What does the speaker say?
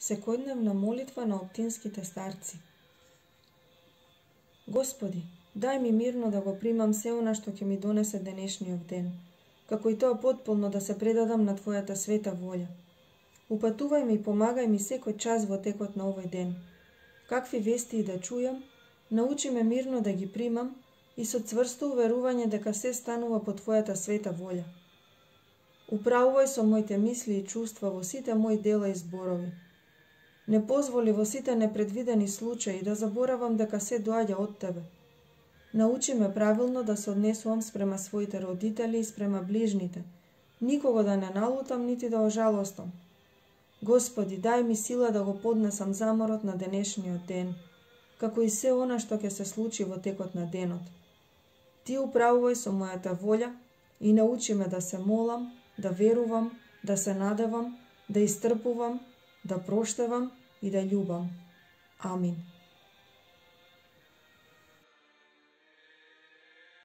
Секојдневна молитва на оптинските старци. Господи, дај ми мирно да го примам се она што ќе ми донесе денешниот ден, како и тоа потполно да се предадам на Твојата света волја. Упатувај ми и помагај ми секој час во текот на овој ден. Какви вести и да чујам, научи ме мирно да ги примам и со цврсто уверување дека се станува по Твојата света волја. Управувај со моите мисли и чувства во сите мои дела и зборови. Не позволи во сите непредвидени случаи да заборавам дека се доаѓа од Тебе. Научи ме правилно да се однесувам спрема своите родители и спрема ближните, никого да не налутам нити да ожалостам. Господи, дај ми сила да го поднесам заморот на денешниот ден, како и се она што ќе се случи во текот на денот. Ти управувај со мојата волја и научи ме да се молам, да верувам, да се надевам, да истрпувам, да проштевам и да љубам. Амин.